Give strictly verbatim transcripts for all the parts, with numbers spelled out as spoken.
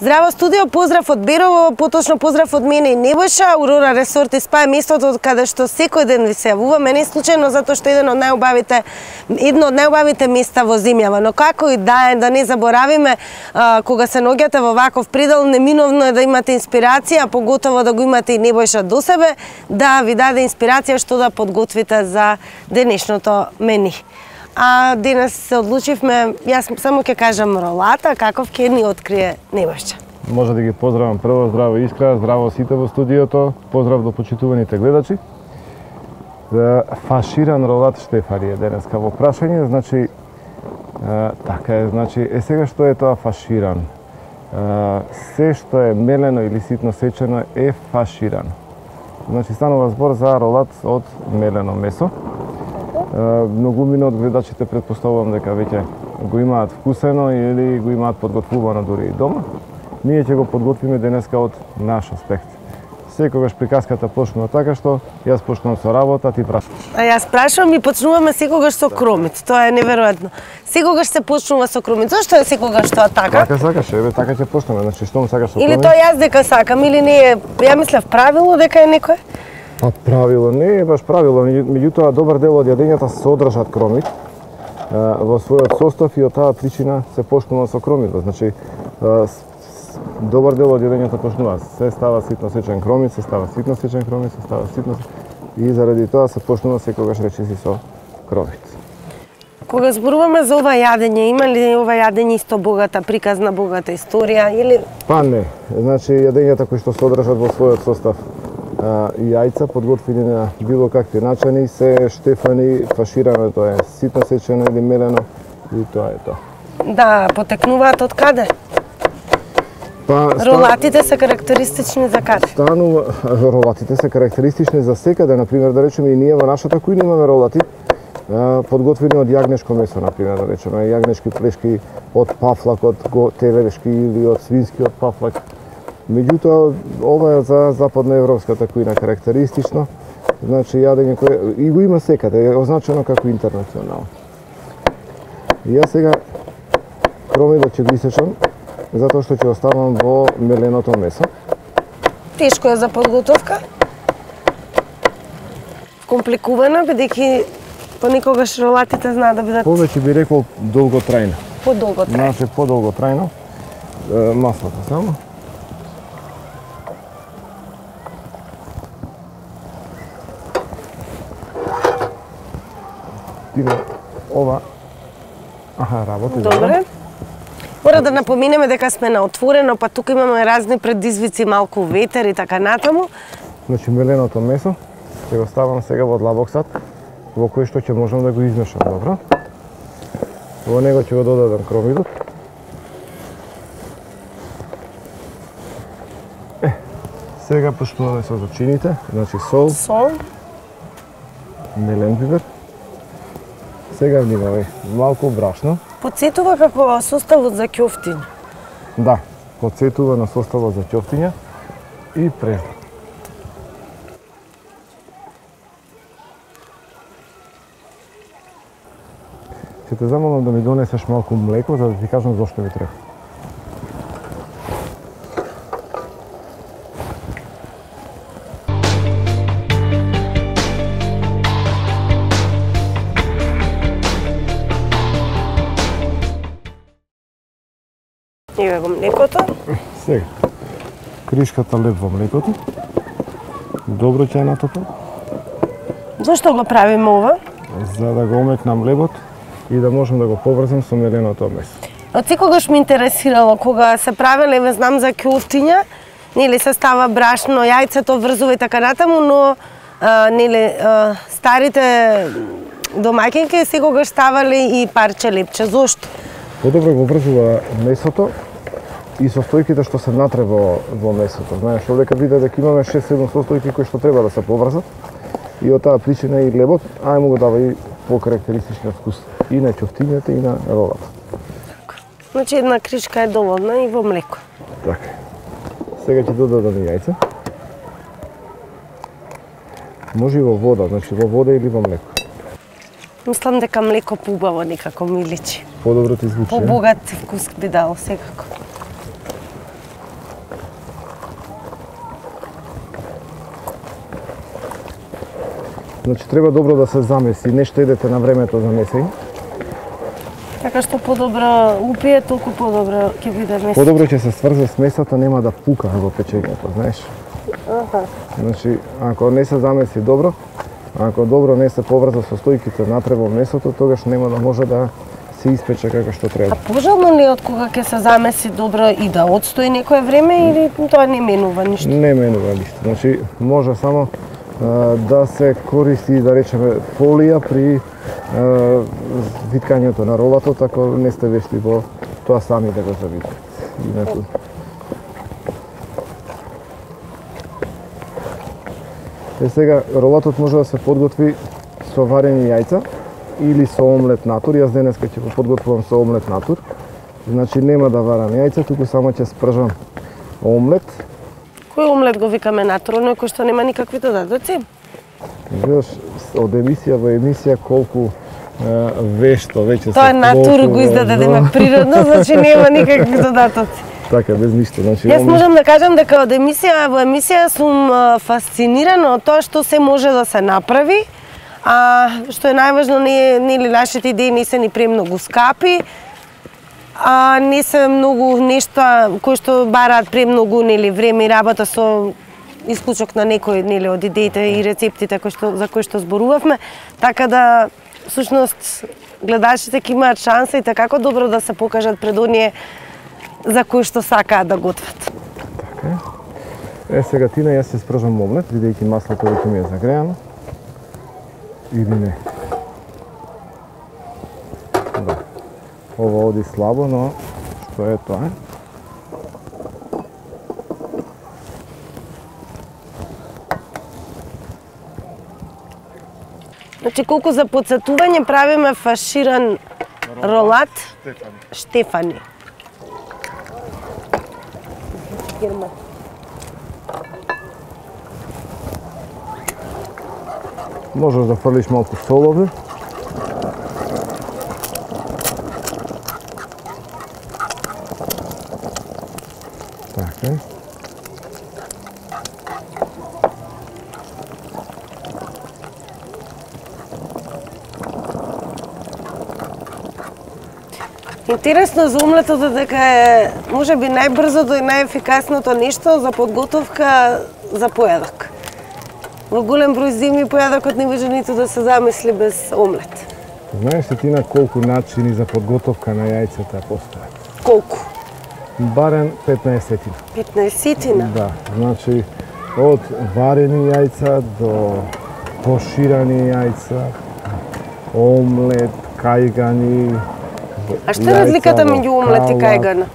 Здраво студио, поздрав од Берово, поточно поздрав од мене и Небојша. Урора Ресорт и спа е местото каде што секој ден ви се јавуваме, не случајно затоа што еден од најубавите едно од најубавите места во земјава, но како и да е, да не заборавиме, а, кога се наоѓате во ваков предел, неминовно е да имате инспирација, поготово да го имате и Небојша до себе, да ви даде инспирација што да подготвите за денешното мени. А денес се одлучивме, јас само ќе кажам ролата, каков ќе ни открие Небојша. Може да ги поздравам прво, здраво Искра, здраво сите во студиото, поздрав до почитуваните гледачи. Фаширан ролат Штефани е денеска во прашање, значи, е, така е, значи, е сега што е тоа фаширан? Е, се што е мелено или ситно сечено е фаширан. Значи, станува збор за ролат од мелено месо. Многумина од гледачите претпоставувам дека веќе го имаат вкусено или го имаат подготвувано дури и дома. Ние ќе го подготвиме денеска од наш аспект. Секогаш приказката почнува така што јас почнувам со работа, ти прашуваш. А јас прашувам и почнуваме секогаш со кромит. Тоа е неверојатно. Секогаш се почнува со кромит. Зошто е секогаш тоа така? Така сакаш, еве така ќе почнеме. Значи што му сакаш со или кромит? Или тоа јас дека сакам или не е, ја мислев правило дека е некој? Па правило не е баш правило, меѓутоа добар дел од јадењата содржат кромит во својот состав и од таа причина се почнува со кромитот. Значи добар дел од јадењата почнува, се става ситно сечен кромит, се става ситно сечен кромит, се става ситно и заради тоа се почнува секогаш речиси со кромит. Кога зборуваме за ова јадење, има ли ова јадење исто богата приказна, богата историја или? Па не, значи јадењата кои што содржат во својот состав и јајца подготвени на било какви начини се Штефани, фаширано, тоа е ситно сечено или мелено и тоа е тоа. Да, потекнуваат од каде? Па, ролатите се карактеристични за каде? Станува, ролатите се карактеристични за секаде, например, да речеме и ние во нашата кујна имаме ролати подготвени од јагнешко месо, например, да речеме, јагнешки плешки од пафлак, од телешки или од свински од пафлак. Меѓутоа, ова е за западноевропската кујна карактеристично, значи јадење кое и го има секаде, е означено како интернационално. И јас сега кромитот ќе го исечам, затоа што ќе оставам во меленото месо. Тешко е за подготовка? Компликувано, бидејќи понекогаш ролатите знаат да бидат... Повеќе би рекол долготрајно. Подолготрајно. Значи, подолготрајно. Маслото само. Тиме, ова... Аха, работи. Добре. Мора да напоминеме дека сме на отворено, па тука имаме разни предизвици, малку ветер и така натаму. Значи, меленото месо ќе го ставам сега во длабоксат, во кој што ќе можам да го измешам, добро? Во него ќе го додадам кромитот. Е, сега почнуваме со зачините, значи сол, сол, мелен пипер. Сега внимавај, малку брашно. Подсетува како составот за ќофтиња. Да, подсетува на составот за ќофтиња и преждок. Ќе те замолам да ми донесеш малку млеко, за да ти кажам зошто ми треба. Еве го млекото. Сега, кришката леп во млекото. Добро ќе ја натопам. Зошто го правиме ова? За да го омекнам лебот и да можам да го поврзам со меленото месо. Од секогаш ме интересирало кога се правеле, еве знам за ќофтиња, нели се става брашно, јајцето врзува и така натаму, но а, нели а, старите домаќинки секогаш ставале и парче лепче. Зошто? Подобро го врзува месото и состојките што се внатре во, во месото. Знаеш, овдека виде дека имаме шест-седум состојки кои што треба да се поврзат и од таа причина и лебот, а му го дава и по-карактеристичен вкус и на ќофтињата и на ролата. Така. Значи една кришка е доволна и во млеко. Така. Сега ќе додадам и јајца. Може и во вода, значи во вода или во млеко. Мислам дека млеко поубаво некако ми личи. Подобро ти звучи. Побогат вкус би дало секако. Значи треба добро да се замеси, не штедете на времето за месење. Така што подобро упие, толку подобро ќе биде месото. Подобро ќе се сврзе с месото, нема да пука во печењето, знаеш. Аха. Значи, ако не се замеси добро, ако добро не се поврза состојките натре во месото, тогаш нема да може да се испече како што треба. А пожално ли од кога ќе се замеси добро и да одстои некое време или тоа не менува ништо? Не менува ништо. Значи, може само а, да се користи, да речеме, фолија при а, виткањето на ролатот, ако не сте вешти во тоа сами да го завиткате. Е сега, ролатот може да се подготви со варени јајца или со омлет натур. Јас денеска ќе го подготвувам со омлет натур. Значи нема да варам јајца, туку само ќе спржам омлет. Кој омлет го викаме натур, оној кој што нема никакви додатоци? Видиш, од емисија во емисија колку е, вешто веќе се Тоа натур го издаде да има природно, значи нема никакви додатоци. Така, без ништо. Значи, Јас можам да кажам дека од емисија во емисија сум фасцинирана од тоа што се може да се направи, а што е најважно, не нели нашите идеи не се ни премногу скапи, а не се многу нешта кои што бараат премногу нели време и работа со исклучок на некои нели од идеите и рецептите кои што за кои што зборувавме, така да всушност гледачите ќе имаат шанса и како добро да се покажат пред оние за кои што сакаат да готват. Така е. Е, сега Тина, јас ќе спржам омлет, бидејќи маслото веќе ми е загреано. Или не? Да. Ова оди слабо, но што е тоа? Значи, колку за подсетување правиме фаширан ролат Штефани. Штефани. Можеш да фрлиш малку сол овде. Така е. Интересно за омлетот е дека е можеби најбрзото и најефикасното нешто за подготовка за појадок. Во голем број зими појадокот не може ниту да се замисли без омлет. Знаеш ли Тина колку начини за подготовка на јајцата постојат? Колку? Барем петнаесетина. петнаесетина? Да, значи од варени јајца до поширани јајца, омлет, кајгани. А што е разликата меѓу омлет и кајгана?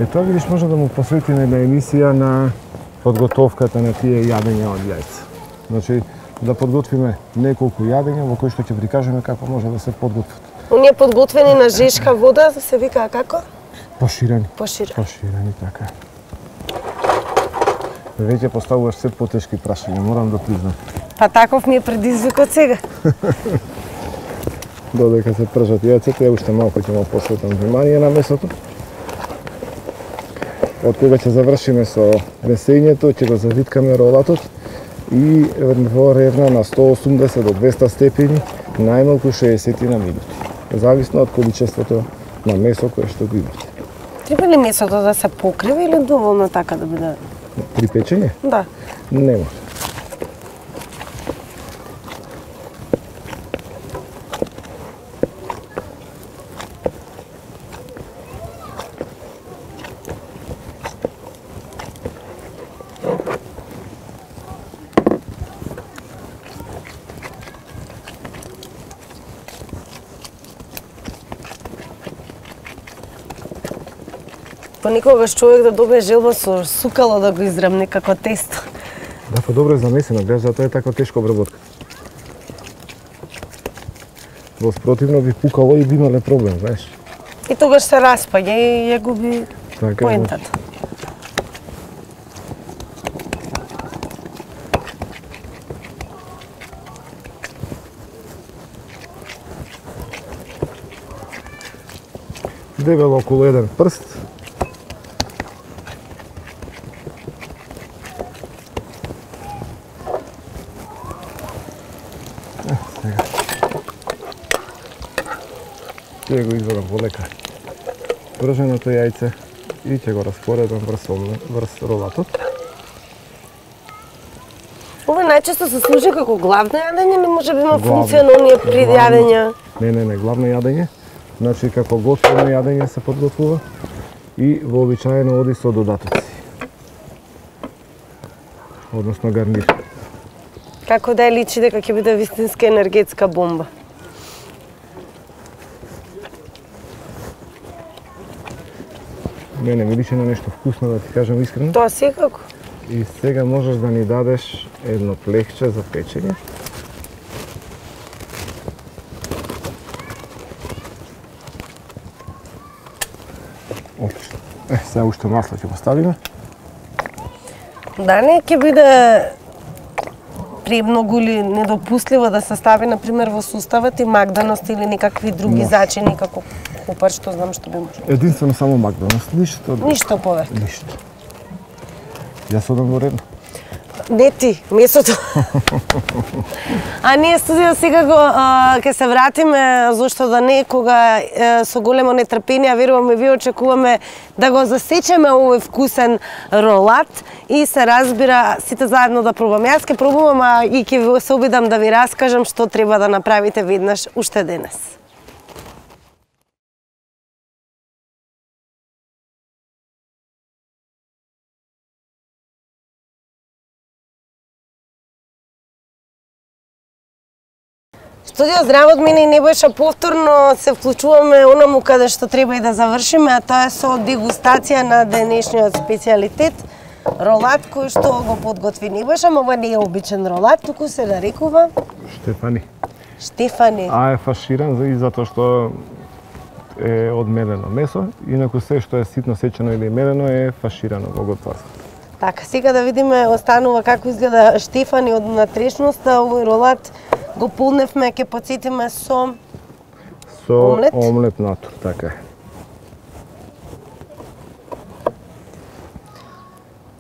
Е, тоа видиш може да му посветиме една емисија на подготовката на тие јадења од јајца. Значи, да подготвиме неколку јадења во кои што ќе прикажеме како може да се подготват. Оние подготвени на жешка вода се викаа како? Поширани. Поширани. Поширани, така. Веќе поставуваш се потешки прашања, морам да признам. Па таков ми е предизвикот сега. Додека се пржат јајцата, ја уште малку ќе му посветам внимание на месото. Од кога ќе завршиме со месењето, ќе го завиткаме ролатот и во ревна на сто осумдесет до двеста степени, најмалку шеесет на минути. Зависно од количеството на месо кое што го имате. Треба ли месото да се покрива или доволно така да биде? При печење? Да. Не може. Понекогаш човек да добие желба со сукало да го израмне како тесто. Да, па добро е замесено, гледаш, затоа е така тешка обработка. Во спротивно би пукало и би имале проблем, знаеш. И тогаш се распаѓа и ја губи Така, поентата. Дебело околу еден прст. ќе го извадам полека прженото јајце и ќе го распоредам врз, врз ролатот. Ова најчесто се служи како главно јадење, не може би има функција на оние предјадења? Не, не, не, главно јадење. Значи, како готово јадење се подготвува и вообичаено оди со додатоци. Односно гарнир. Како да ја личи дека ќе биде вистинска енергетска бомба? Мене ми личи на нешто вкусно, да ти кажам искрено. Тоа секако. И сега можеш да ни дадеш едно плехче за печење. Отлично. Е, сега уште масло ќе го ставиме. Да не ќе биде премногу или недопустливо да се стави, например, во суставот и магданост или некакви други Може. зачини, како купар, што знам што би може. Единствено само магданост, ништо. Ништо повеќе. Ништо. Јас одам во редно. Не ти, месото. А ние студио сега го а, ќе се вратиме, зашто да не, кога е, со големо нетрпение, веруваме ви очекуваме да го засечеме овој вкусен ролат и се разбира сите заедно да пробаме. Јас ќе пробувам, а и ќе се обидам да ви раскажам што треба да направите веднаш уште денес. Студио Здраво од мене и Небојша повторно се вклучуваме онаму каде што треба и да завршиме, а тоа е со дегустација на денешниот специјалитет ролат кој што го подготви Небојша, но ова не е обичен ролат, туку се нарекува Штефани. Штефани. А е фаширан и затоа што е од мелено месо, инаку се што е ситно сечено или мелено е фаширано во готоварство. Така, сега да видиме останува како изгледа Штефани од натрешноста, овој ролат го полневме, ќе потсетиме со со омлет, омлет натур, така е.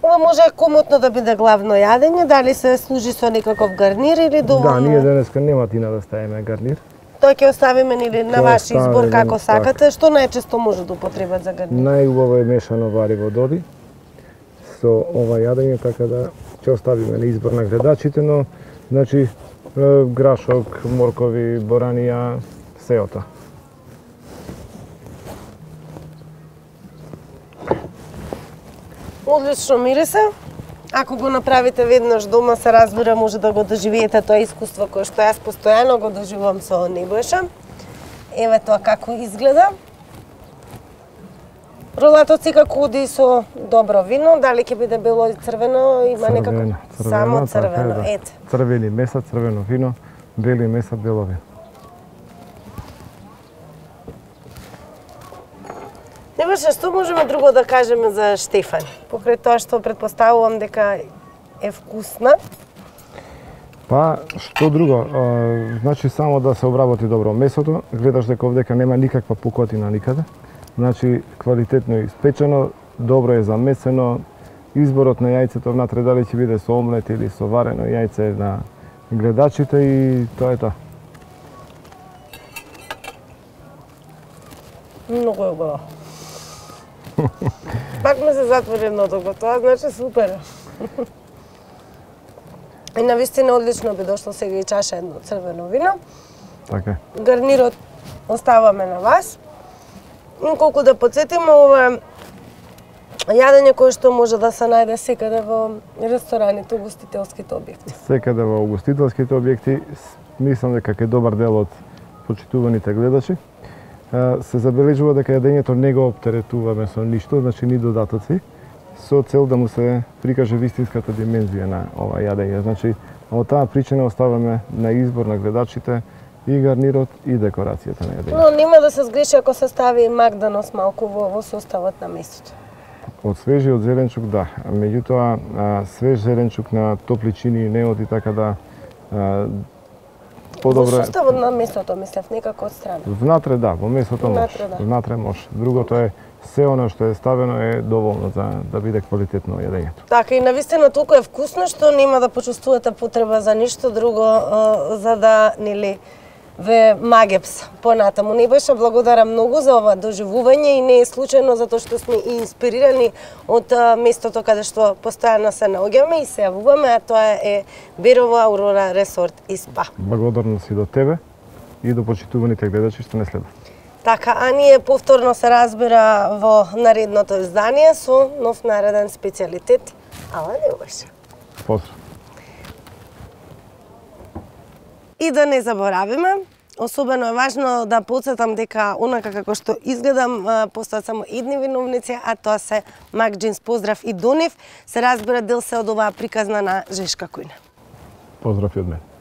Ова може комотно да биде главно јадење, дали се служи со некаков гарнир или доволно? Да, ние денеска нема тина да ставиме гарнир. Тоа ќе оставиме нели на Тоа ваш ставиме, избор како така. сакате, што најчесто може да употребат за гарнир? Најубаво е мешано вариво доди со ова јадење, така да ќе оставиме на избор на гледачите, но значи грашок, моркови, боранија, сеото. Одлично мирисе. Ако го направите веднаш дома, се разбира, може да го доживеете тоа искуство кое што јас постојано го доживувам со Небојша. Еве тоа како изгледа. Ролатот секако оди со добро вино, дали ќе биде бело и црвено, има Црвено, некако црвено, само така е, црвено, да. ете. Црвени меса, црвено вино, бели меса, бело вино. Небојша, што можеме друго да кажеме за Штефани? Покрај тоа што претпоставувам дека е вкусна. Па, што друго? А, значи, само да се обработи добро месото, гледаш дека овдека нема никаква пукотина никаде. Значи, квалитетно испечено, добро е замесено. Изборот на јајцето внатре, дали ќе биде со омлет или со варено јајце на гледачите и тоа е тоа. Многу е убаво. Пак ме се затвори едното го, тоа значи супер. И навистина одлично би дошло сега и чаша едно црвено вино. Така. Гарнирот оставаме на вас. И колку да подсетиме, ова е јадење кое што може да се најде секаде во рестораните, угостителските објекти. Секаде во угостителските објекти, мислам дека е добар дел од почитуваните гледачи. Се забележува дека јадењето не го оптеретуваме со ништо, значи ни додатоци, со цел да му се прикаже вистинската димензија на ова јадење. Значи, од таа причина оставаме на избор на гледачите и гарнирот и декорацијата на јадењето. Но нема да се сгреши ако се стави магданост малку во, во составот на месото. Од свежиот зеленчук, да. Меѓутоа, а, свеж зеленчук на топли чини не оди, така да а, подобро Во е. составот на месото, мислев, некако од страна. Внатре да, во месото може. Внатре, да. Внатре може. Другото е се оно што е ставено е доволно за да биде квалитетно јадењето. Така, и навистина толку е вкусно што нема да почувствувате потреба за ништо друго, а, за да, нели, ве Магепс понатаму. Небојша, благодарам многу за ова доживување и не е случајно затоа што сме и инспирирани од местото каде што постојано се наоѓаме и се јавуваме, а тоа е Берово Аурора Ресорт и Спа. Благодарност и до тебе и до почитуваните гледачи што не следат. Така, а ние повторно се разбира во наредното издание со нов нареден специјалитет. Ала Небојша. Поздрав. И да не заборавиме, особено е важно да потсетам дека онака како што изгледам, постојат само едни виновници, а тоа се Мак Джинс. Поздрав и до нив. Се разбира, дел се од оваа приказна на Жешка Кујна. Поздрав и од мене.